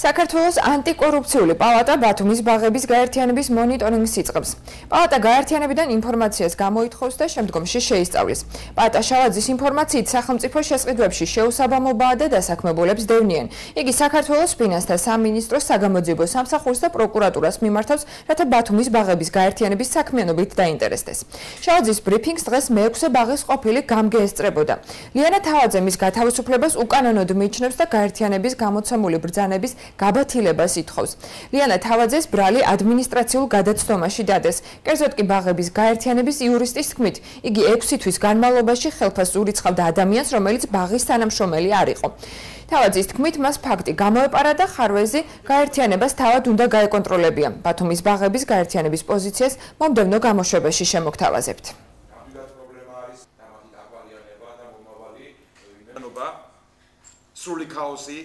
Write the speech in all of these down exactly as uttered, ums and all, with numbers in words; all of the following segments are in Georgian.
საქართველოს ანტიკორუფციული პალატა ბათუმის ბაღების გაერთიანების მონიტორინგს იწყებს. პალატა გაერთიანებიდან ინფორმაციას გამოითხოვს და შემდგომში შეისწავლის. პალატა შალაძის ინფორმაციით სახელმწიფო შესყიდვებში შეუსაბამობაა და დასაქმებულებს დევნიან. იგი საქართველოს ფინანსთა სამინისტროს საგამოძიებო სამსახურს და პროკურატურას მიმართავს, რათა ბათუმის ბაღების გაერთიანების საქმიანობით დაინტერესდეს. შალაძის ბრიფინგს დღეს მეექვსე ბაღის ყოფილი გამგე ესწრებოდა. ლიანა თავაძე მის გათავისუფლებას უკანონოდ მიიჩნევს და გაერთიანების გამოცემული ბრძანების გაბათილებას ითხოვს. ლიანა თავაძეს ბრალი ადმინისტრაციულ გადაცდომაში დადეს. კერძოდ კი ბაღების გაერთიანების იურისტის თქმით, იგი ექვსი თვის განმავლობაში ხელფასს ურიცხავდა ადამიანს, რომელიც ბაღის თანამშრომელი არ იყო. თავაძის თქმით, მას ფაქტი გამოეპარა და ხარვეზი გაერთიანებას თავად უნდა გაეკონტროლებია. ბათუმის ბაღების გაერთიანების პოზიციას მომდევნო გამოშვებაში შემოგთავაზებთ. სრული ქაოსი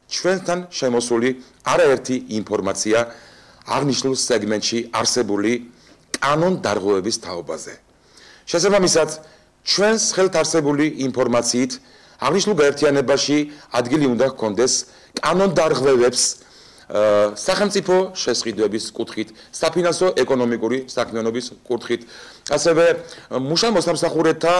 ჩვენთან შემოსული არაერთი ინფორმაცია აღნიშნულ სეგმენტში არსებული კანონდარღვევების თაობაზე. შესაბამისად, ჩვენს ხელთ არსებული ინფორმაციით აღნიშნულ გაერთიანებაში ადგილი უნდა ჰქონდეს კანონდარღვევებს სახელმწიფო შესყიდვების კუთხით, საფინანსო ეკონომიკური საქმიანობის კუთხით, ასევე მუშა მოსამსახურეთა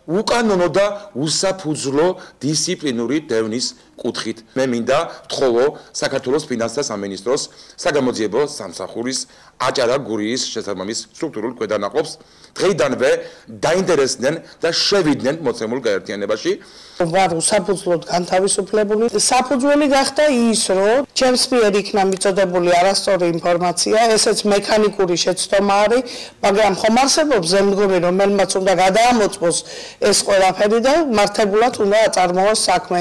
უკანონო და უსაფუძვლო დისციპლინური დევნის კუთხით. მე მინდა ვთხოვო საქართველოს ფინანსთა სამინისტროს საგამოძიებო სამსახურის აჭარა გურიის შესაბამის სტრუქტურულ ქვედანაყოფს დღეიდანვე დაინტერესდნენ და შევიდნენ მოცემულ გაერთიანებაში. ვარ უსაფუძვლოდ განთავისუფლებული. საფუძველი გახდა ის, რომ ჩემს მიერ იქნა მიწოდებული არასწორი ინფორმაცია, ესეც მექანიკური შეცდომა არის, მაგრამ ხომ არსებობს ზემდგომი, რომელმაც უნდა გადაამოწმოს ეს ყველაფერი და მართებულად უნდა აწარმოოს საქმე.